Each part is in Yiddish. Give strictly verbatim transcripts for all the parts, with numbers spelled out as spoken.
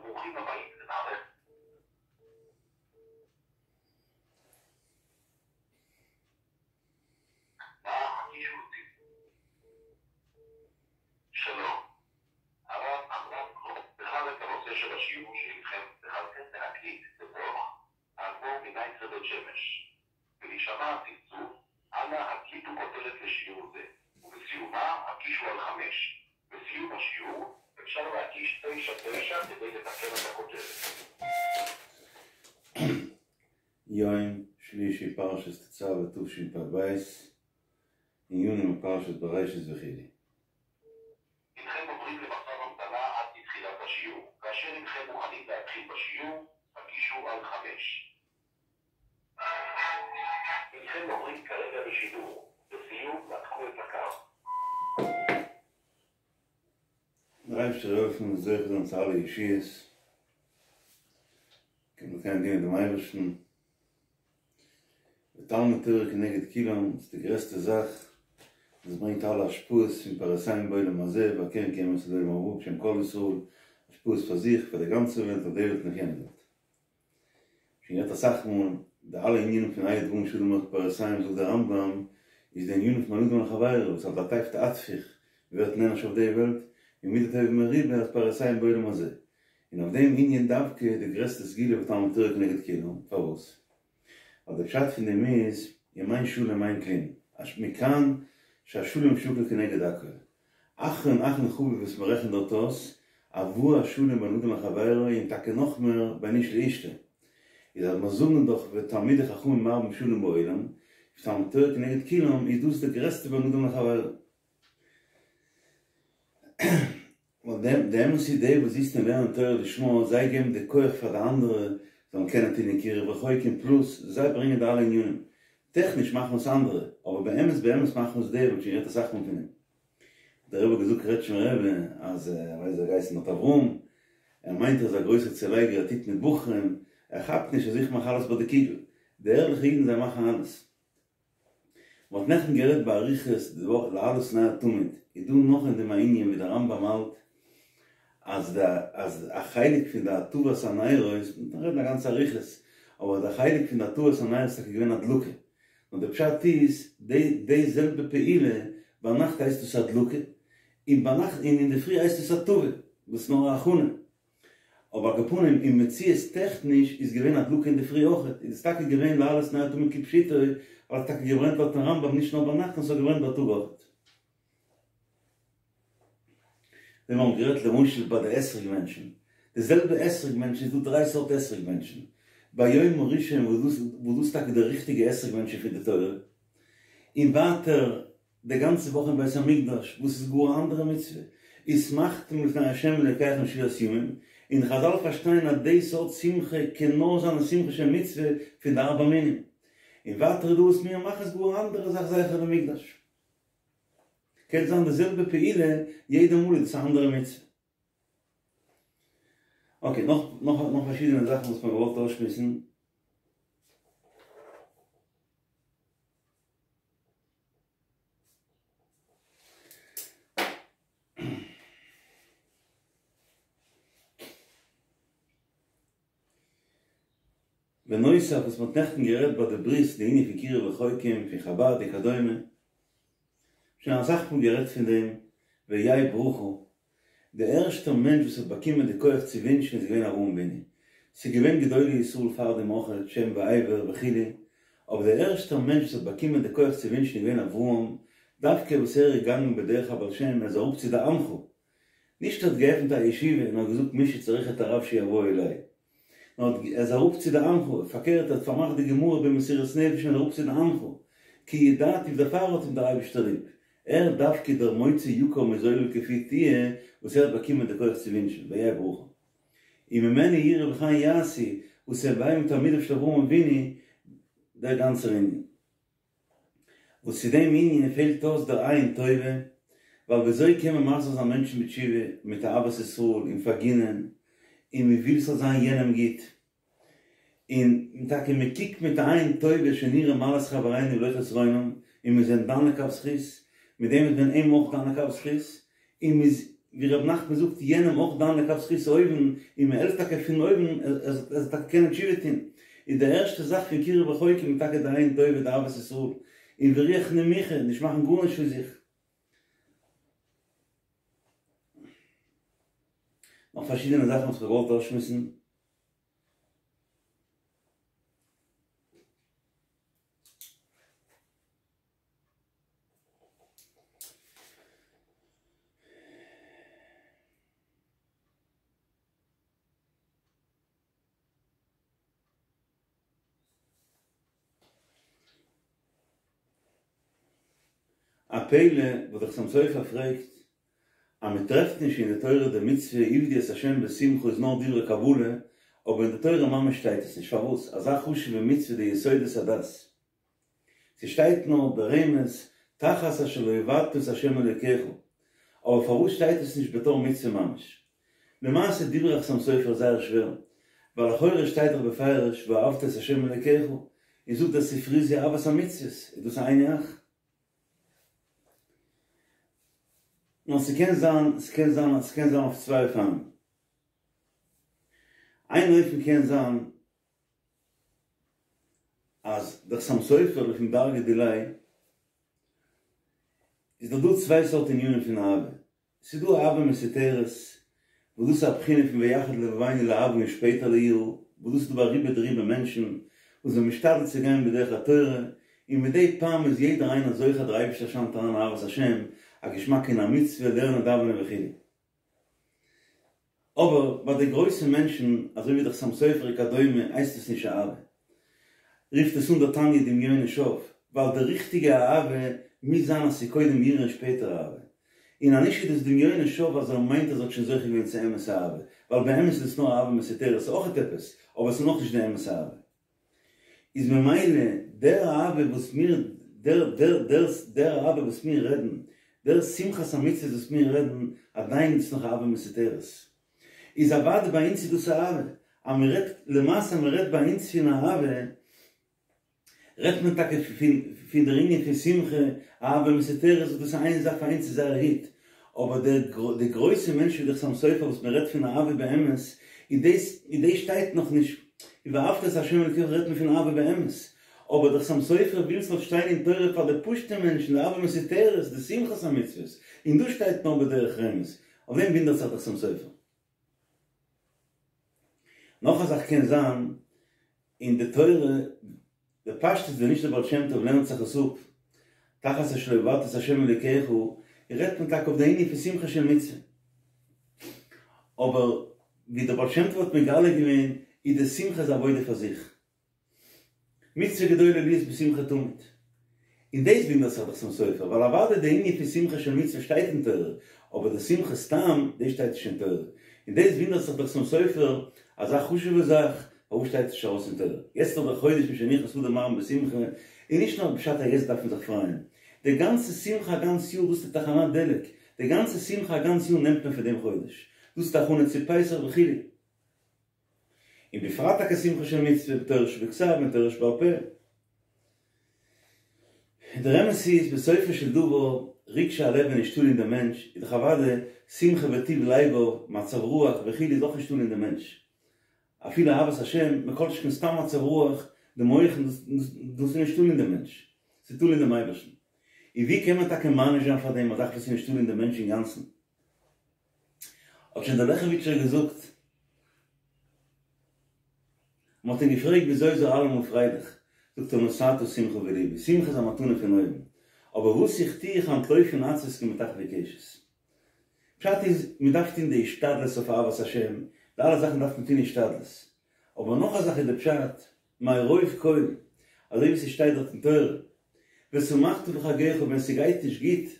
וברוכים הבאים למערכת נא הקישו אותי. שלום, הרב עמרם בחר את הנושא של השיעור שאינכם בחרתם להקליט בתוך האדמו"ר מנייטרא בית שמש. ולהישמע הצלצול, אנא הקליטו כותרת לשיעור זה, ובסיומה הקישו על חמש. בסיום השיעור אפשר להקיש תשע תשע כדי לתקן את הכותרת. יום שלישי פרשת תצוה תשפ"ב, עיון בפרשת בראשית וכו'. הנכם עוברים למצב המתנה עד לתחילת השיעור. כאשר הנכם מוכנים להתחיל בשיעור, הקישו על חמש. הנכם עוברים כרגע לשידור. לסיום, נתקו את הקו. דער אייבערשטער זאל העלפן מיר זוכה זיין צו אלע ישועות, קען מען דינען דעם אייבערשטן, ותלמוד תורה כנגד כולם איז די גרעסטע זאך, דאס ברענגט אלע השפעות פון פרנסים בעולם הזה והקרן קיימת לעולם הבא בשם כל ישראל, השפעות פאר זיך, פאר די גאנצע וועלט, אויף די וועלט און אויף יענע וועלט. שוין גערעדט אסאך מאל, די אלע ענינים פון אלו דברים שאדם הולך בפרסיים זאגט דער רמב"ם, איז די ענינים פון בין אדם לחבירו, וואס על דאטפת אטפוך, מ'ווערט נענש אויף די וועלט, און מידה טובה מרובה אז פרסיים בעולם הזה. און אויף דעם ענין דווקא איז די גרעסטע סגולה ותלמוד תורה כנגד כולם, פארוואס? ווייל די פשט פון דעם איז, אם אין שלום אין כלום, מכאן שהשלום שקול כנגד הכל. אחרון אחרון חביב וואס מען רעכנט דארט אויס, הבאת השלום בין אדם לחבירו און טאקע נאכמער בין איש לאשתו. איז אז מיר זאגן דאך ותלמידי חכמים מרבים שלום בעולם, ותלמוד תורה כנגד כולם, איז דאס די גרעסטע בין אדם לחבירו. ווייל די אמת איז די וואס זיצן און לערנען תורה לשמה, זיי געבן די כח פאר די אנדערע זאלן קענען טון אין קירוב רחוקים, פלאס זיי ברענגען די אלע ענינים. טעכניש מאכן עס אנדערע, אבער באמת באמת מאכן עס די, מ'האט שוין גערעדט אסאך מאל פון דעם. דער רבי האט געזאגט קרעטשמער רבי אז ער ווייסט זיי גייסן נאט אברהם, ער מיינט ער איז א גרויסער צולייגער ער טוט מיט בחורים, ער כאפט נישט אז איך מאך אלעס ביי די קוגל, די ערליכע אידן זיי מאכן אלעס. מען האט נעכטן גערעדט באריכות די וואך להעלות נר תמיד, איז דא נאך אין דעם א ענין ווי דער רמב"ם האלט אז די אז א חלק פון די הטבת הנרות, מען קען רעדן א גאנצע אריכות, אבער די חלק פון די הטבת הנרות איז טאקע געווען הדלקה, נאר די פשט איז די די זעלבע פעולה, ביינאכט הייסט עס הדלקה, און ביינאכט און אינדערפרי הייסט עס הטבה, וואס איז נאר א הכנה. אבער על כל פנים אין מציאות טעכניש איז געווען הדלקה אינדערפרי אויכעט, איז עס טאקע געווען להעלות נר תמיד כפשוטו, ווייל עס האט טאקע געברענט לויטן רמב"ם נישט נאר ביינאכט נאר עס האט געברענט בייטאג אויכעט. ווי מיר האבן גערעדט למשל ביי די אתרוג בענטשן, די זעלבע אתרוג בענטשן איז דא דריי סארט אתרוג בענטשן, ביום הראשון וואס דאס וואס דאס איז טאקע די ריכטיגע אתרוג בענטשן פון די תורה, און ווייטער די גאנצע וואך אין בית המקדש וואס איז גאר א אנדערע מצוה, ושמחתם לפני ה' אלוקיכם שבעת ימים, און חזל פארשטייען אז די סארט שמחה קען נאר זיין א שמחה של מצוה פון די ארבע מינים, און ווייטער איז דא וואס מיר מאכן איז גאר א אנדערע זאך זכר למקדש. קען זיין די זעלבע פעולה יעדע מאל איז עס א אנדערע מצוה. אקעי, נאך נאך נאך פארשידענע זאכן וואס מ'האט געוואלט אויסשמועסן. בנוסף וואס מ'האט נעכטן גערעדט ביי די ברית די ענין פון קירוב רחוקים פון חבד וכדומה, שוין אסאך מאל גערעדט פון דעם, והיה ברכה, די ערשטע מענטש וואס האט באקומען די כח צו ווינטשן איז געווען אברהם אבינו, ס'איז געווען גדולי ישראל פאר דעם אויכעט, שם ועבר וכו', אבער דער ערשטער מענטש וואס האט באקומען די כח צו ווינטשן איז געווען אברהם, דווקא וואס ער איז געגאנגען בדרך הבעל שם, ער איז אראפ צו די עמך, נישט ער האט געעפנט א ישיבה און האט געזאגט מי שצריך את הרב שיבוא אלי, נאר ער איז אראפ צו די עמך, פארקערט ער האט פארמאכט די גמרא במסירות נפש און אראפ צו די עמך, כי ידעתיו דערפאר האט אים דער אייבערשטער ליב, ער דווקא דער מוציא יקר מזולל כפי תהיה וואס ער האט באקומען די כח צו ווינטשן, והיה ברכה. און ממנו יראו וכן יעשו, וואס הוו תלמידיו של אברהם אבינו, דער גאנצער ענין. וואס צו דעם ענין פעלט אויס דער עין טובה, ווייל וויאזוי קען מען מחזיר זיין מענטשן בתשובה מיט אהבת ישראל און פארגינען, און מען וויל ס'זאל זיין יענעם גוט, און טאקע מען קוקט מיט א עין טובה שנראה מעלת חברינו ולא חסרונם, און מ'איז אים דן לכף זכות, מיט דעם איז מען אים אויך דן לכף זכות, און מ'איז, ווי ר' נחמן זאגט, יענעם אויך דן לכף זכות אויבן, און מ'העלפט טאקע פון אויבן ער זאל טאקע קענען תשובה טון, איז די ערשטע זאך פון קירוב רחוקים איז טאקע די עין טובה, די אהבת ישראל, און ורוח נמוכה, נישט מאכן גארנישט פון זיך. נאך פארשידענע זאכן וואס כ'האב געוואלט אויסשמועסן. א פלא וואס דער חתם סופר פרעגט אז מען טרעפט נישט אין די תורה די מצוה עבדו את ה' בשמחה איז נאר דברי קבלה, אבער אין די תורה ממש שטייט עס נישט, פארוואס אזא חשוב'ע מצוה די יסודות הדת? ס'שטייט נאר ברמז תחת אשר לא עבדת את ה' אלוקיך, אבער פארוואס שטייט עס נישט בתור מצוה ממש? למעשה דברי החתם סופר איז זייער שווער, ווייל לכאורה שטייט דאך בפירוש ואהבת את ה' אלוקיך, און זאגט דער ספרי זו אהבת המצוות, איז דאס היינו הך? נאר ס'קען זיין, ס'קען זיין, ס'קען זיין אויף צוויי אופנים. איין אופן קען זיין אז דער חתם סופר לפום דרגא דיליה איז דאך דא צוויי סארט ענינים פון אהבה, ס'איז דא אהבה מסותרת, וואס דאס איז א בחינה פון ויחד לבבנו לאהבה און שפעטער ליראה, וואס דאס איז דא ביי רובא דרובא מענטשן וואס זענען משתדל צו גיין בדרך התורה, און מדי פעם איז יעדער איינער זוכה דער אייבערשטער שיינט אריין אהבת השם, א געשמאק אין א מצוה, לערנען דאווענען וכו'. אבער ביי די גרויסע מענטשן אזוי ווי דער חתם סופר וכדומה הייסט עס נישט אהבה. רופט עס אן דער תניא דמיונו שוא, ווייל די ריכטיגע אהבה מוז זיין אז ס'איז קודם יראה און שפעטער אהבה. און אז נישט איז דאס דמיונו שוא אז ער מיינט אז ער האט שוין זוכה געווען צו אמת'ע אהבה, ווייל באמת איז דאס נאר אהבה מסותרת, ס'איז אויכעט עפעס, אבער ס'איז נאכנישט די אמת'ע אהבה. איז ממילא דער אהבה וואס מיר דער דער דער דער אהבה וואס מיר רעדן, דער שמחת המצוות וואס מיר רעדן, עדיין איז נאך אהבה מסותרת. איז אוודאי ביי אונז איז דאס אהבה, אז מען רעדט למעשה אז מען רעדט ביי אונז פון אהבה, רעדט מען טאקע פון פון דער ענין פון שמחה, אהבה מסותרת וואס דאס איז איין זאך פאר אונז איז זייער גוט, אבער דער די גרויסע מענטשן ווי דער חתם סופר וואס מען רעדט פון אהבה באמת, איז דאס איז דאס שטייט נאך נישט, ואהבת את ה' אלקיך רעדט מען פון אהבה באמת, אבער דער חתם סופר וויל ס'זאל שטיין אין תורה פאר די פשוטע מענטשן די אהבה מסותרת, די שמחת המצוות, און דאס שטייט נאר בדרך רמז, אויף דעם וואונדערט זיך דער חתם סופר. נאך א זאך קען זיין אין די תורה, בפשטות ווען נישט דער בעל שם טוב לערנט זיך עס אפ, תחת אשר לא עבדת את ה' אלוקיך, רעדט מען טאקע אויף די ענין פון שמחה של מצוה. אבער ווי דער בעל שם טוב האט מגלה געווען, איז די שמחה איז א עבודה פאר זיך. מצוה גדולה להיות בשמחה תמיד. און דאס וואונדערט זיך דער חתם סופר, ווייל אוודאי די ענין פון שמחה של מצוה שטייט אין תורה, אבער די שמחה סתם, דאס שטייט נישט אין תורה. און דאס וואונדערט זיך דער חתם סופר, אזא חשוב'ע זאך, פארוואס שטייט עס נישט ארויס אין תורה? יעצט איז דאך דער חודש משנכנס אדר מרבין בשמחה, און נישט נאר פשט אז יעצט דארף מען זיך פרייען. די גאנצע שמחה א גאנץ יאר, דאס איז די תחנת דלק, די גאנצע שמחה א גאנץ יאר נעמט מען פון דעם חודש. דאס איז די הכנה צו פסח וכו'. און בפרט טאקע שמחה של מצוה בתורה שבכתב און תורה שבעל פה. דער אמת איז בסופו של דבר רגשי הלב איז נישט תלוי אין דעם מענטש, איז דאך אוודאי שמחה וטוב לבב, מצב רוח וכו' איז אויך נישט תלוי אין דעם מענטש. אפילו אהבת השם, מכל שכן סתם מצב רוח, די מוחין, דאס איז נישט תלוי אין דעם מענטש, ס'איז תלוי אין דעם אייבערשטן. און ווי קען מען טאקע מעניש זיין פאר דעם א זאך וואס איז נישט תלוי אין דעם מענטש אינגאנצן? האט שוין דער לעכעוויטשער געזאגט, מען האט אים געפרעגט וויאזוי איז ער אלעמאל פרייליך, זאגט ער נתתה שמחה בלבי, שמחה איז א מתנה פון אויבן, אבער וואס איך טו איך אנטלויף פון עצבות כמטחווי קשת. פשט איז, מען דארף טון די השתדלות אויף אהבת השם, די אלע זאכן דארף מען טון השתדלות, אבער נאך א זאך איז די פשט, מרוב כל, אזוי ווי ס'שטייט דארט אין תורה, ושמחת בחגך ווען ס'גייט נישט גוט,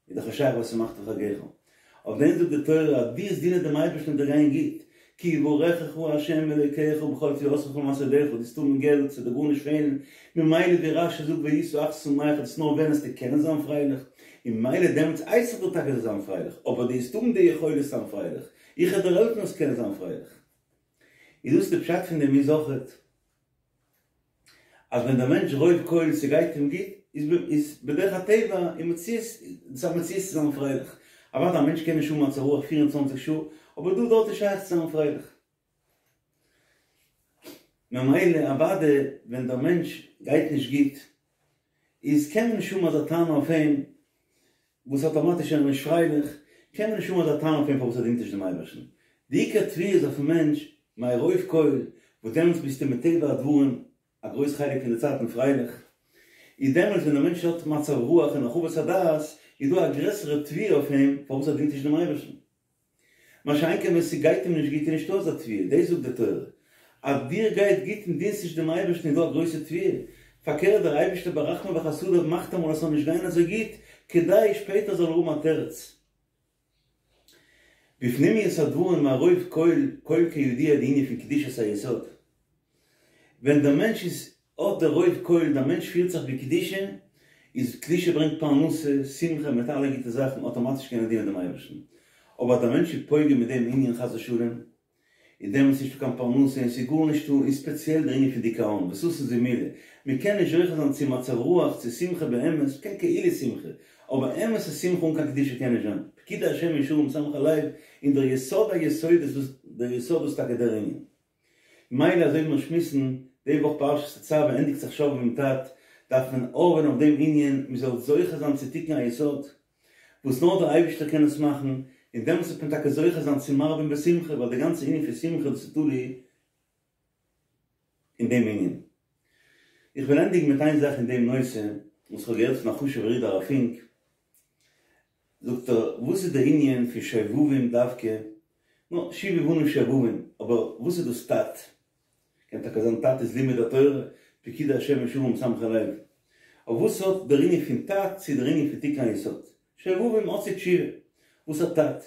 איז דאך נישט שייך ושמחת בחגך. אויף דעם זאגט די תורה אז דו וועסט דינען דעם אייבערשטן וועט דיר גיין גוט, כי יברכך ה' אלוקיך בכל תבואתך ובכל מעשה ידיך, דו וועסט האבן געלט, ס'וועט דיר גארנישט פעלן, ממילא ווי רש"י זאגט והיית אך שמח, דאס איז נאר ווען וועסטו קענען זיין פרייליך, און ממילא דעמאלטס הייס איך דיר טאקע זאלסט זיין פרייליך, אבער דו וועסט האבן די יכולת זיין פרייליך, איך וועל דיר העלפן זאלסט קענען זיין פרייליך. איז דאס די פשט פון דעם איז אויכעט אז ווען דער מענטש רוב כל ס'גייט אים גוט, איז איז בדרך הטבע און מציאות, ס'איז א מציאות צו זיין פרייליך. אוודאי א מענטש קען נישט האבן מצב רוח פֿיר און צוואַנציק שעה, אבער דא דארט איז שייך צו זיין פרייליך. ממילא אוודאי ווען דער מענטש גייט נישט גוט, איז קען מען נישט האבן אזא טענה אויף אים, וואס אטאמאטיש איז ער נישט פרייליך, קען מען נישט האבן אזא טענה אויף אים פארוואס ער דינט נישט דעם אייבערשטן. די עיקר תביעה איז אויפן מענטש, מרוב כל, וואס דעמאלטס ביסטו מטבע הדברים א גרויס חלק פון די צייטן פרייליך, איז דעמאלטס ווען דער מענטש האט מצב רוח און הרחבת הדעת, איז דא א גרעסערע תביעה אויף אים פארוואס ער דינט נישט דעם אייבערשטן. מה שאין כן ווען ס'גייט אים נישט גוט איז נישטא אזא תביעה, דאס זאגט די תורה, אז דיר גייט גוט און דינסט נישט דעם אייבערשטן איז דא א גרויסע תביעה, פארקערט דער אייבערשטער ברחמיו וחסדיו מאכט אמאל אז ס'זאל נישט גיין אזוי גוט, כדי שפעטער זאל ער האבן א תירוץ. בפנימיות הדברים מרוב כל, כל כידוע די ענין פון קדושת היסוד. ווען דער מענטש איז האט דער רוב כל, דער מענטש פירט זיך בקדושה, איז קדושה ברענגט פרנסה, שמחה מיט אלע גוטע זאכן, אטאמאטיש קען ער דינען דעם אייבערשטן. אבער אז דער מענטש איז פוגם מיט דעם ענין חס ושלום, איז דעמאלטס נישטא קיין פרנסה און ס'איז גארנישטא, און ספעציעל דער ענין פון דיכאון, וששון זימולי, מען קען נישט זוכה זיין צו מצב רוח, צו שמחה באמת, מ'קען כאילו שמחה, אבער אמת'ע שמחה אן קיין קדושה קען נישט זיין, פקודי השם ישרים משמחי לב, און דער יסוד היסודות דאס, דער יסוד דאס איז טאקע דער ענין. מילא אזוי ווי מיר שמועסן די וואך פרשת תצוה ענדיגט זיך שובבים ת"ת, דארף מען הארעווען אויף דעם ענין, מען זאל זוכה זיין צו תיקון היסוד, וואס נאר דער אייבערשטער קען עס מאכן, און דעמאלטס וועט מען טאקע זוכה זיין צו מרבין בשמחה, ווייל די גאנצע ענין פון שמחה דאס איז תלוי אין דעם ענין. איך וויל ענדיגן מיט איין זאך אין דעם נושא, וואס איך האב געהערט פון א חשוב'ער איד הרב פינק, זאגט ער, וואס איז דער ענין פון שובבים דווקא? נו, שובו בנים שובבים, אבער וואס איז דאס ת"ת? קען טאקע זיין ת"ת איז לימוד התורה, פקודי השם ישרים משמחי לב. אבער וואס האט דער ענין פון ת"ת צו דער ענין פון תיקון היסוד? שובבים האט צו תשובה. וואס האט ת"ת?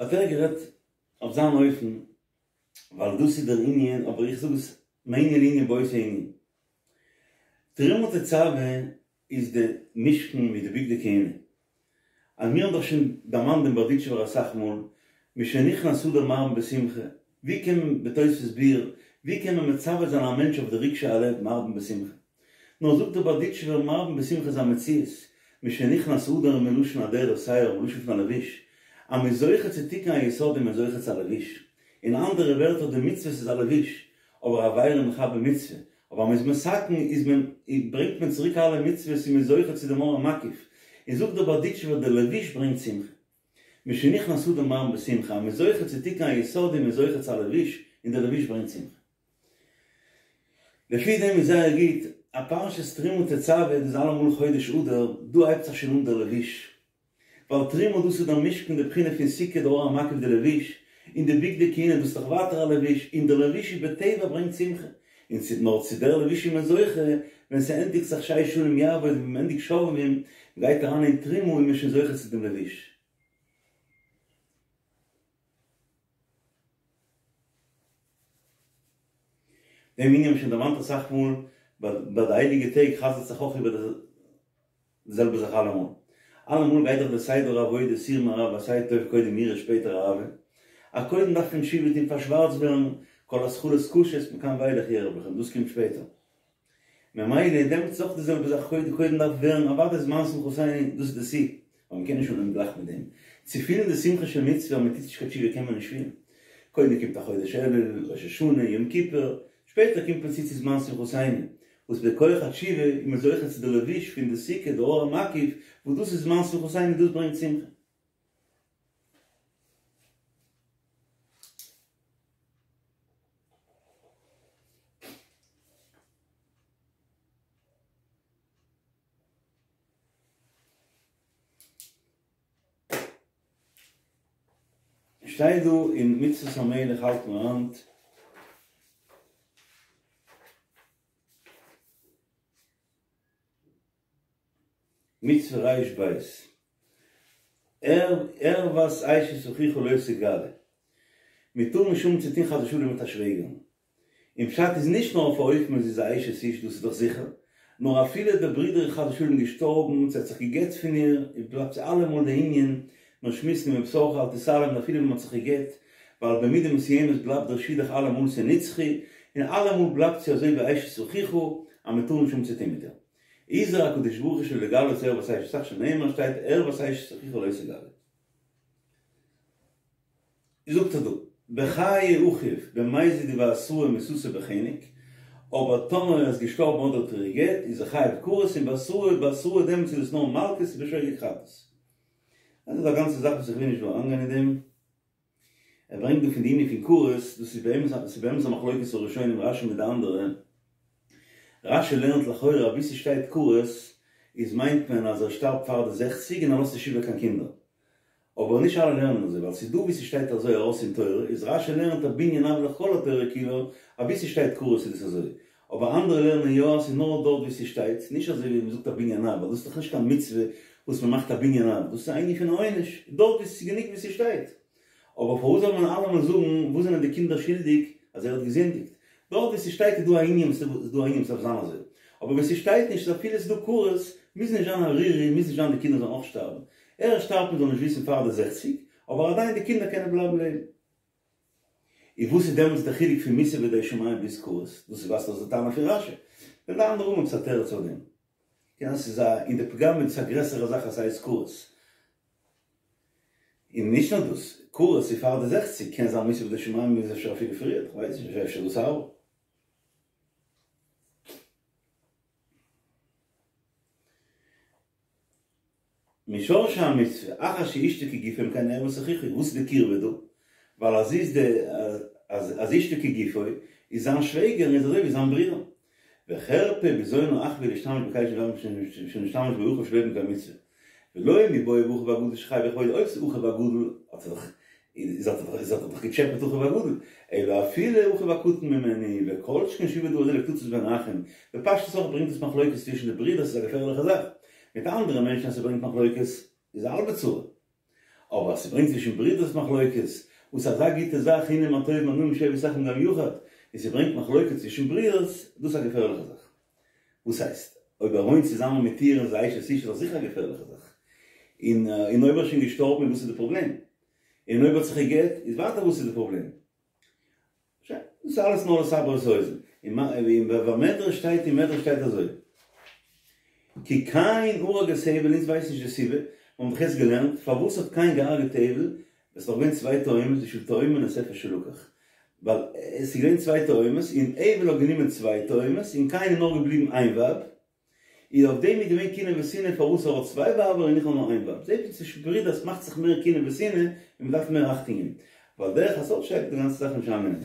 האט ער גערעדט אויף זיין אופן, ווייל דאס איז דער ענין, אבער איך זאג עס מענין לענין באותו ענין. תרומה תצוה איז די משכן מיט די בגדי כהונה. אז מיר האבן דאך שוין דערמאנט דעם בארדיטשובער אסאך מאל, משנכנס אדר מרבין בשמחה, ווי קען מען בתוספות ביאור, ווי קען מען מצווה זיין א מענטש אויף די רגשי הלב מרבין בשמחה? נאר זאגט דער בארדיטשובער מרבין בשמחה איז א מציאות, משנכנס אדר מלשון אדרת שער, מלשון פון א לבוש, אז מ'איז זוכה צו תיקון היסוד איז מען זוכה צו א לבוש, אין אנדערע ווערטער די מצוות איז א לבוש, אבער עבירה מכבה מצוה, אבער אז מ'איז מתקן איז מען ברענגט מען צוריק אלע מצוות און מ'איז זוכה צו דעם אור המקיף, און זאגט דער בארדיטשובער דער לבוש ברענגט שמחה. משנכנס אדר מרבין בשמחה, אז מ'איז זוכה צו תיקון היסוד איז מען זוכה צו א לבוש, און דער לבוש ברענגט שמחה. לפי דעם איז זייער גוט, א פרשת תרומה תצוה דאס איז אלעמאל חודש אדר, דא הייבט זיך שוין אן דער לבוש. ווייל תרומה דאס איז דער משכן די בחינה פון סוכה די אור המקיף די לבוש, און די בגדי כהונה דאס איז דאך ווייטער א לבוש, און דער לבוש איז בטבע ברענגט שמחה, און צו נאר צו דער לבוש איז מען זוכה ווען ס'ענדיגט זיך שש שנים יעבוד ווען מ'ענדיגט שובבים מ'גייט אריין אין תרומה איז מען שוין זוכה צו דעם לבוש. דעם ענין האבן מיר שוין דערמאנט אסאך מאל, ביי די הייליגע טעג חזר'ט זיך אויך איבער די זעלבע זאך אלעמאל. אלעמאל גייט דאך די סדר העבודה סור מרע ועשה טוב קודם יראה שפעטער אהבה. א קודם דארף מען תשובה טון פארשווארצט ווערן כל התחלות קשות מכאן ואילך יערב לכם דאס קומט שפעטער. ממילא דעמאלטס איז אויך די זעלבע זאך קודם קודם דארף ווערן אוודאי זמן שמחתינו דאס איז די שיא אבער מ'קען נישט אנהויבן גלייך מיט דעם. צו פילן די שמחה של מצוה אז מ'טוט נישט קיין תשובה קען מען נישט פילן. קודם קומט א חודש אלול, ראש השנה, יום כיפור, שפעטער קומט מען צו צו זמן שמחתינו, וואס בכח התשובה איז מען זוכה צו די לבוש פון די סוכה, די אור המקיף, וואס דאס איז זמן שמחתינו דאס ברענגט שמחה. שטייט דא אין מצוות המלך האלט מען היינט. מצוה ריש בית. ערות אשת אחיך לא תגלה. מען טאר נישט האבן צו טון חס ושלום מיט א שוועגערין. און פשט איז נישט נאר אויף א אופן ווען זי איז א אשת איש, דאס איז דאך זיכער, נאר אפילו דער ברודער איז חס ושלום געשטארבן, צו ער האט זיך גע'גט פון איר, איז בלייבט זי אלעמאל די ענין, מיר שמועסן מבשרך אל תתעלם, און אפילו ווען מען האט זיך גע'גט, ווייל במידה מסוימת בלייבט דער שידוך אלעמאל ס'איז נצחי, און אלעמאל בלייבט זי אזוי ווי אשת אחיך, אז מען טאר נישט האבן צו טון מיט איר. הזהיר הקדוש ברוך הוא שלא לגלות ערות אשת אח שנאמר שטייט ערות אשת אחיך לא תגלה. זאגט ער דא, בחיי אחיו במזיד ובהתראה מיתתו בחנק, אבער טאמער ער איז געשטארבן אדער האט ער איר גע'גט איז ער חייב כרת און בהתראה בהתראה דעמאלטס איז עס נאר מלקות ובשוגג חטאת. דאס איז א גאנצע זאך וואס איך וויל נישט דא אריינגיין אין דעם. ער ברענגט דא פון די ענין פון כרת, דאס איז באמת א ס'איז באמת א מחלוקת הראשונים רשי מיט די אנדערע, רשי לערנט לכאורה אז וואו ס'שטייט כרת איז מיינט מען אז ער שטארבט פאר די זעכציג און ער לאזט נישט איבער קיין קינדער, אבער נישט אלע לערנען אזוי ווייל ס'איז דא וואו ס'שטייט אזוי ארויס אין תורה איז רשי לערנט א בנין אב לכל התורה כולה אז וואו ס'שטייט כרת איז דאס אזוי, אבער אנדערע לערנען יא אז ס'איז נאר דארט וואו ס'שטייט, נישט אזוי ווי מ'זאגט א בנין אב ווייל דאס איז דאך נישט קיין מצוה וואס מ'מאכט א בנין אב, דאס איז א ענין פון א עונש, דארט וואו ס'איז גענוג וואו ס'שטייט. אבער פארוואס זאל מען אלעמאל זאגן וואס זענען די קינדער שולדיג אז ער האט געזינדיגט? דארט וואו ס'שטייט איז דא א ענין וואס איז דא א ענין וואס דארף זיין אזוי, אבער וואו ס'שטייט נישט איז אפילו ס'איז דא כרת, מוז נישט זיין ערירי, מוז נישט זיין די קינדער זאלן אויך שטארבן. ער שטארבט מען זאל נישט וויסן פאר די זעכציג, אבער עדיין די קינדער קענען בלייבן לעבן. און וואס איז דעמאלטס די חילוק פון מיתה בידי שמים ביז כרת? דאס איז ווייזט אויס די טענה פון רשי. וועלן די אנדערע האבן עפעס א תירוץ אויף דעם. קען זיין ס'איז א אין די פגם איז דאס א גרעסערע זאך אז ס'הייסט כרת. און נישט נאר דאס, כרת איז פאר די זעכציג, קען זיין מיתה בידי שמים איז אפשר אפילו פריער, כ'ווייס נישט, אפשר דאס הארבער. משורשי המצוה, אחר שאשתו כגופו אם כן ערות אחיך, וואס איז די קירבה דא? ווייל אז איז די אז אשתו כגופו איז זיין שוועגער איז אזוי ווי זיין ברודער. וחרפה ובזיון האחווה להשתמש בכלי שנשתמש בו אחיו שלא במקום מצוה. ולא מיבעיא באחיו הגדול שחייב בכבודו אויב ס'איז אחיו הגדול האט ער דאך איז האט ער דאך געטשעפעט אחיו הגדול אלא אפילו אחיו הקטן ממנו וכל שכן שהוא בדבר הזה לקצוץ בין האחים בפשטות אויך ברענגט עס מחלוקת צווישן די ברידער ס'איז א געפערליכע זאך מיט אנדערע מענטשן אז ס'ברענגט מחלוקת איז א האלבע צרה אבער אז ס'ברענגט צווישן ברידערס מחלוקת וואס איז אזא גוטע זאך הנה מה טוב ומה נעים שבת אחים גם יחד און ס'ברענגט מחלוקת צווישן ברידערס דאס איז א געפערליכע זאך וואס הייסט? אויב ער וואוינט צוזאמען מיט איר און זי איז אשת איש איז דאך זיכער א געפערליכע זאך. און און אויב ער איז שוין געשטארבן איז וואס איז די פראבלעם? און אויב ער האט זיך גע'גט איז ווייטער וואס איז די פראבלעם? שוין, דאס איז אלעס נאר לסבר את האוזן. און במדרש שטייט אין מדרש שטייט אזוי. כי קין הרג את הבל אונז ווייסן נישט די סיבה, מיר האבן דאך יעצט געלערנט פארוואס האט קין געהארגעט הבל, עס איז דאך געווען צוויי תאומות בשביל תאומים נוספת שלקח, ווייל עס איז געווען צוויי תאומות און הבל האט גענומען צוויי תאומות און קין איז נאר געבליבן איין ווייב, איז אויף דעם איז געווען קנאה ושנאה פארוואס ער האט צוויי ווייבער און איך האב נאר איין ווייב, זעט מען צווישן ברידערס מאכט זיך מער קנאה ושנאה און מען דארף מער אכטונג געבן, ווייל דרך הסוד שטייט די גאנצע זאך נישט איינגענומען.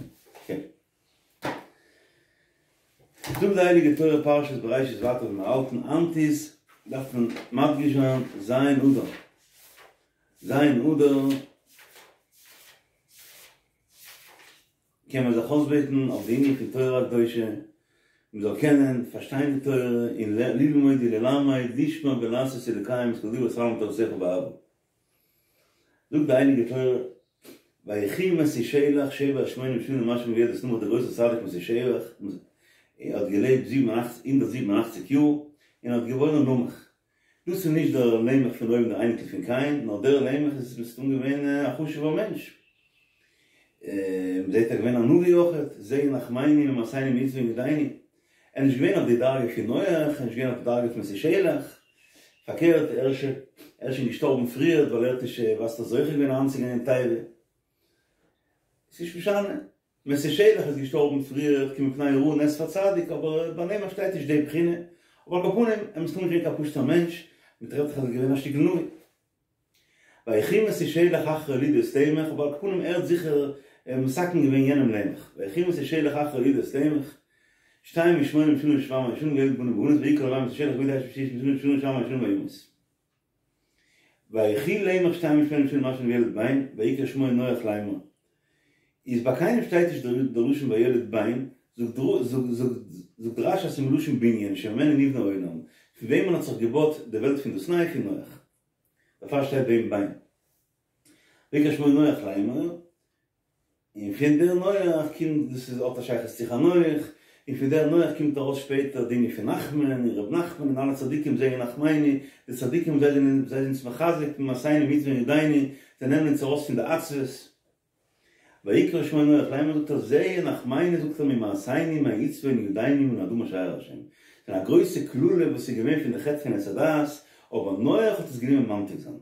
זאגט די הייליגע תורה פרשת בראשית ווייטער ווי מיר האלטן היינט איז דארף מען מדגיש זיין ז' אדר ז' אדר קען מען זיך אויסבעטן אויף די ענין פון תורה הקדושה מען זאל קענען פארשטיין די תורה און ללמוד וללמד לשמור ולעשות ולקיים את כל דברי התלמוד תורתך באהבה. זאגט די הייליגע תורה, ויחי מתושלח שבע ושמונים שנה ומאה שנה וילד את למך דער גרויסער צדיק מתושלח האט געלעבט זיבן און אכציג הונדערט זיבן און אכציג יאר און האט געבוירן למך. דאס איז נישט דער למך פון אויבן דער אייניקל פון קין, נאר דער למך איז מסתם געווען א חשוב'ער מענטש. מ'זעט ער איז געווען א נביא אויכעט, זה ינחמנו ממעשנו מעצבון ידינו. ער איז נישט געווען אויף די דרגה פון נח, ער איז נישט געווען אויף די דרגה פון מתושלח, פארקערט ער איז שוין געשטארבן פריער ווייל ער האט נישט ווייסט זוכה געווען אריינצוגיין אין תיבה. ס'איז נישט משנה, מתושלח איז געשטארבן פריער כי מפני הרעה נאסף הצדיק, אבער ביי למך שטייט נישט די בחינה, אבער על כל פנים ער איז מסתמא נישט געווען קיין פשוט'ער מענטש, מ'טרעפט זיך אז ער איז געווען א שטיקל נביא. ויחי מתושלח אחרי הולידו את למך, אבער על כל פנים ער האט זיכער מתקן געווען יענעם למך, ויחי מתושלח אחרי הולידו את למך, שתים ושמונים שנה ושבע מאות שנה וילד בנים ובנות ויקרא לבן מתושלח בן תשעים ושמונה שנה ושבע מאות שנה וימות. ויחי למך שתים ושמונים שנה ומאה שנה וילד בן, ויקרא שמו נח לאמר. איז ביי קיינעם שטייט נישט דער לשון וילד בן, זאגט רש"י אז ס'איז מלשון בנין שממנו נבנה העולם, פון וועמען האט זיך געבויט די וועלט פון דאס ניי? פון נח. דערפאר שטייט ביי אים בן. ויקרא שמו נח לאמר, און פון דער נח קומט, דאס איז האט א שייכות צו חנוך, און פון דער נח קומט ארויס שפעטער די ענין פון נחמן און ר' נחמן און אלע צדיקים זה ינחמנו, די צדיקים זיי זענען זיי זענען אונז מחזק ממעשינו מעצבון ידינו, זיי נעמען אונז ארויס פון די עצבות. ויקרא שמו נח לאמר זאגט ער זה ינחמנו זאגט ער ממעשינו מעצבון ידינו מן האדמה אשר אהר השם. ס'איז א גרויסע קללה וואס איז געווען פון די חטא פון עץ הדעת, אבער נח האט עס גענומען ממתיק זיין.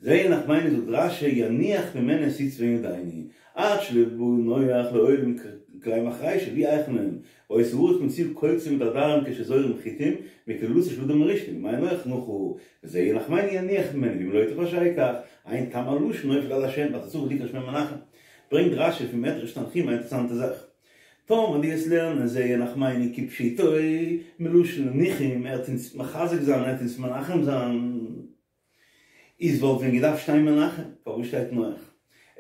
זה ינחמנו זאגט רש"י יניח ממנו את עצבון ידינו, עד שלא בא נח לעולם כלי מחרישה והוא היכן מהם, והיתה הארץ מצויה קוצים ודרדרים כשזורים חיטים, מקללתו של אדם הראשון, ובימי נח נחה, וזה ינחמנו יניח ממנו, ואם לא תפרשהו כך, אין טעם הלשון נופל על השם, ואתה צריך לקרוא שמו מנחם. ברענגט רש"י פון מדרש תנחומא א אינטערעסאנטע זאך. טאמער דו וועסט לערנען זה ינחמנו כפשוטו, מלשון ניחום, ער וועט אונז מחזק זיין, ער וועט אונז מנחם זיין. איז וואלט ווען געדארפט שטיין מנחם, פארוואס שטייט נח?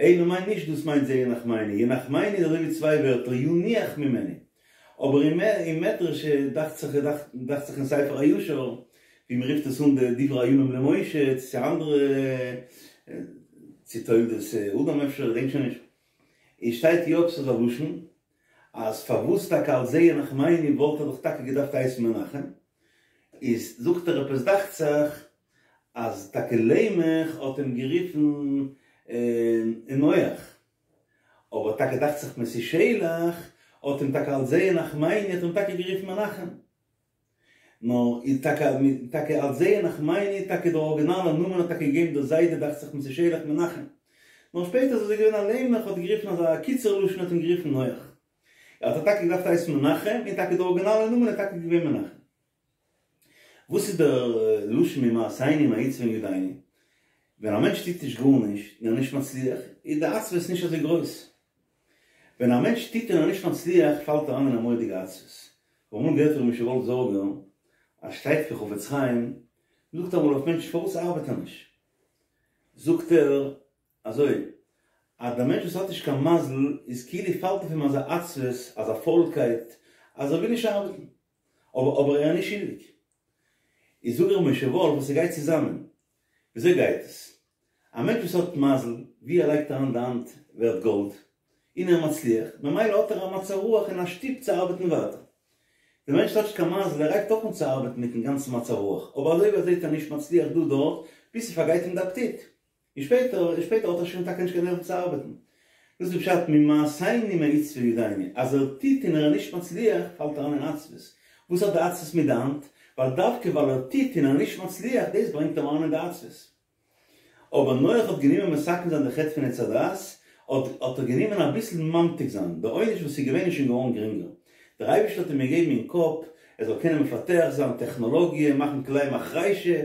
אלא מאי נישט דאס מיינט זה ינחמנו, ינחמנו איז אזוי ווי צוויי ווערטער ינוח ממנו, אבער אין מדרש דאכט זיך דאכט זיך אין ספר הישר ווי מען רופט עס אן די דברי הימים למשה צו אנדערע צו תולדות אדם אפשר איך געדענק שוין נישט, איז שטייט יא עפעס אזא לשון אז פארוואס טאקע אלס זה ינחמנו וואלט ער דאך טאקע געדארפט הייסן מנחם, איז זאגט ער עפעס דאכט זיך אז טאקע למך האט אים גערופן נח, אבער טאקע דאכט זיך מתושלח האט אים טאקע אלס זה ינחמנו האט אים טאקע גערופן מנחם, נאר איז טאקע טאקע אלס זה ינחמנו טאקע דער ארגינאלער נאמען האט טאקע געגעבן דער זיידע דאכט זיך מתושלח מנחם, נאר שפעטער איז אזוי געווען אז למך האט גערופן אזא קיצור לשון האט אים גערופן נח, האט ער טאקע געדארפט הייסן מנחם, און טאקע דער ארגינאלער נאמען איז טאקע געווען מנחם. וואס איז דער לשון ממעשינו מעצבון ידינו? ווען א מענטש טוט נישט גארנישט און ער איז נישט מצליח, איז די עצבות נישט אזוי גרויס. ווען א מענטש טוט און ער איז נישט מצליח, פאלט ער אריין אין א מורא'דיגע עצבות. כ'האב אמאל געהערט פון ר' משה וואלף זארגער, אז שטייט פון חפץ חיים, מ'זאגט אמאל אויף מענטשן פארוואס ארבעט ער נישט? זאגט ער אזוי, אז דער מענטש וואס האט נישט קיין מזל, איז כאילו פאלט אויף אים אזא עצבות, אזא פוילקייט, אז ער וויל נישט ארבעטן. אבער אבער ער איז נישט שולדיג. איז זאגט ר' משה וואלף וואס ס'גייט צוזאמען. וויאזוי גייט עס? א מענטש וואס האט מזל, ווי ער לייגט אריין די האנט ווערט גאלד, און ער מצליח, ממילא האט ער א מצב רוח און א שטופ צו ארבעטן ווייטער. די מענטש וואס האט נישט קיין מזל, ער הייבט אויך אן צו ארבעטן מיטן גאנצן מצב רוח, אבער אזוי ווי ער זעט ער נישט מצליח דא דארט, ביז ס'פארגייט אים די אפעטיט. און שפעטער און שפעטער האט ער שוין טאקע נישט קיין נערוון צו ארבעטן. דאס איז פשט ממעשינו מעצבון ידינו, אז ער טוט און ער איז נישט מצליח פאלט ער אריין אין עצבות. וואס האט די עצבות מיט די האנט? ווייל דווקא ווייל ער טוט און ער איז נישט מצליח דאס ברענגט אים אריין אין די עצבות. אבער נח האט גענומען מתקן זיין די חטא פון עץ הדעת, האט האט ער גענומען אביסל ממתיק זיין, די עונש וואס איז געווען איז שוין געווארן גרינגער. דער אייבערשטער האט אים געגעבן אין קאפ ער זאל קענען מפתח זיין טעכנאלאגיע, מאכן כלי מחרישה,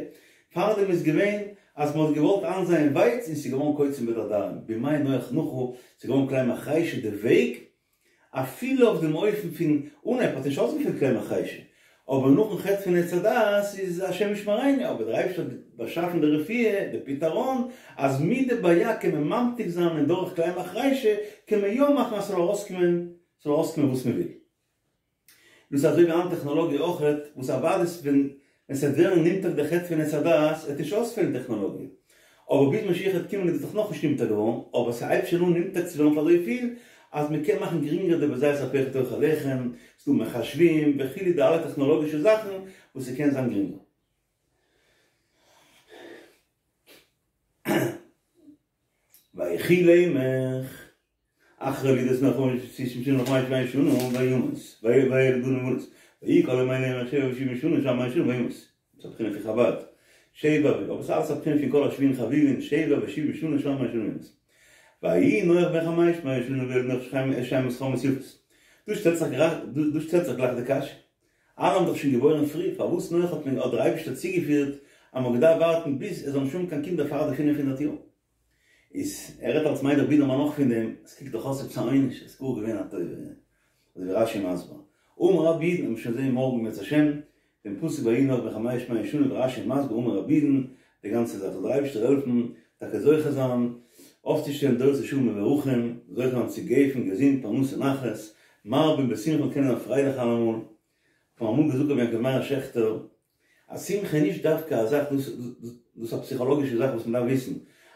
פארדעם איז געווען אז מען האט געוואלט איינזייען ווייץ און ס'איז געווארן קוצים ודרדרים, בימי נח נחה, ס'איז געווארן כלי מחרישה די וועג, אפילו אויף דעם אופן פון אנהייב האט נישט אויסגעפעלט כלי מחרישה, אבער נאכן חטא פון עץ הדעת איז השם ישמרינו, אבער דער אייבערשטער האט באשאפן די רפואה, די פתרון, אז מיט די בעיה קען מען ממתיק זיין און דורך כלי מחרישה קען מען יא מאכן אז ס'זאל ארויסקומען, ס'זאל ארויסקומען וואס מען וויל. דאס איז אזוי ווי היינט טעכנאלאגיע אויכעט, וואס אוודאי ווען ווען ס'וועט ווערן נמתק די חטא פון עץ הדעת וועט נישט אויספעלן טעכנאלאגיע, אבער ביז משיח וועט קומען איז עס דאך נאכנישט נמתק געווארן, אבער ס'הייבט שוין אן נמתק צו ווערן אויף אזויפיל אז מ'קען מאכן גרינגער די בזעת אפיך תאכל לחם, ס'דא מחשבים וכו' די אלע טעכנאלאגישע זאכן וואס ס'קען זיין גרינגער. ויחי למך. אחרי לידת נח חמש וששים שנה וחמש מאות שנה וימות, וילד בנים ובנות, ויהי כל ימי למך שבע ושבעים שנה ושבע מאות שנה וימות. דאס איז א בחינה פון חבד. שבע, אבער ס'איז אלעס א בחינה פון כל השביעין חביבין, שבע ושבעים שנה ושבע מאות שנה וימות. ויהי נח בן חמש מאות שנה וילד נח שם וחם את יפת. דא שטעלט זיך דא שטעלט זיך גלייך די קשיא. אלע האבן דאך שוין געבוירן פרי, פארוואס נח האט מען האט דער אייבערשטער צוגעפירט אז מ'האט געדארפט ווארטן ביז עס זאלן נישט האבן קיין קינדער פאר די פינף הונדערט יאר? איז ער רעדט אלס מיילעך בידערמאן אויך פון דעם, עס קוקט דאך אויס עפעס א עונש, עס איז גאר געווען א טובה, אזוי ווי רש"י מסביר. אמר רב אידן, מיר שוין זעהן מארגן אם ירצה השם, דעם פסוק ויהי נח בן חמש מאות שנה ווי רש"י מסביר אמר רב אידן, די גאנצע זאך זאל דער אייבערשטער העלפן, טאקע זוכה זיין אויפצושטעלן דורות ישרים מבורכים, זוכה זיין צו גפן, געזונט, פרנסה, נחת, מרבין בשמחה, קענען זיין פרייליך אלעמאל, כ'האב אמאל געזאגט רבי יעקב מאיר שעכטער, אז שמחה איז נישט דווקא א זאך, דאס איז א פסיכאלאגישע זאך וואס מען דארף וויסן,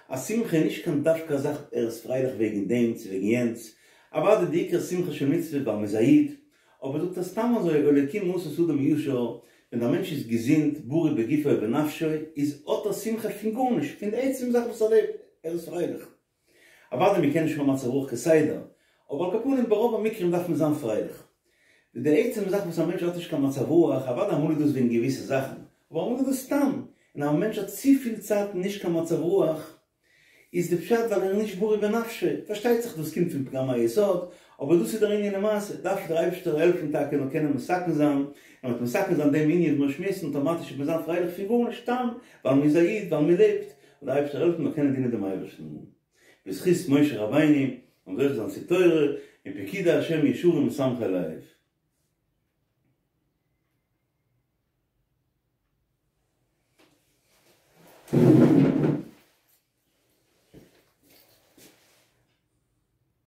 א שמחה איז נישט קיין דווקא א זאך ער איז פרייליך וועגן דעם צו וועגן יענץ, אוודאי די עיקר שמחה של מצוה ווייל מ'איז א איד, אבער זאגט ער סתם אזוי אלוקים עשה את האדם ישר, ווען א מענטש איז געזונט, בריא בגופו ובנפשו, איז האט ער שמחה פון גארנישט, פון די עצם זאך וואס ער לעבט, ער איז פרייליך. אוודאי מ'קען נישט האבן מצב רוח כסדר, אבער על כל פנים ברוב המקרים דארף מען זיין פרייליך. די עצם זאך וואס א מענטש האט נישט קיין מצב רוח, אוודאי אמאל איז דאס וועגן געוויסע זאכן, אבער אמאל איז דאס סתם, און א מענטש האט צופיל צייט נישט קיין מצב רוח, איז די פשט ווייל ער איז נישט בריא בנפשו, פארשטייט זיך דאס קומט פון פגם היסוד, אבער דאס איז דער ענין למעשה, דארף דער אייבערשטער העלפן טאקע נאר קענען מתקן זיין, און מיט מתקן זיין דעם ענין וואס מיר שמועסן אטאמאטיש וועט מען זיין פרייליך פון גארנישט סתם ווייל מען איז א איד, ווייל מען לעבט, זאל דער אייבערשטער העלפן מיר קענען דינען דעם אייבערשטן בזכות משה רבינו און זוכה זיין צו תורה און פקודי השם ישרים משמחי לב.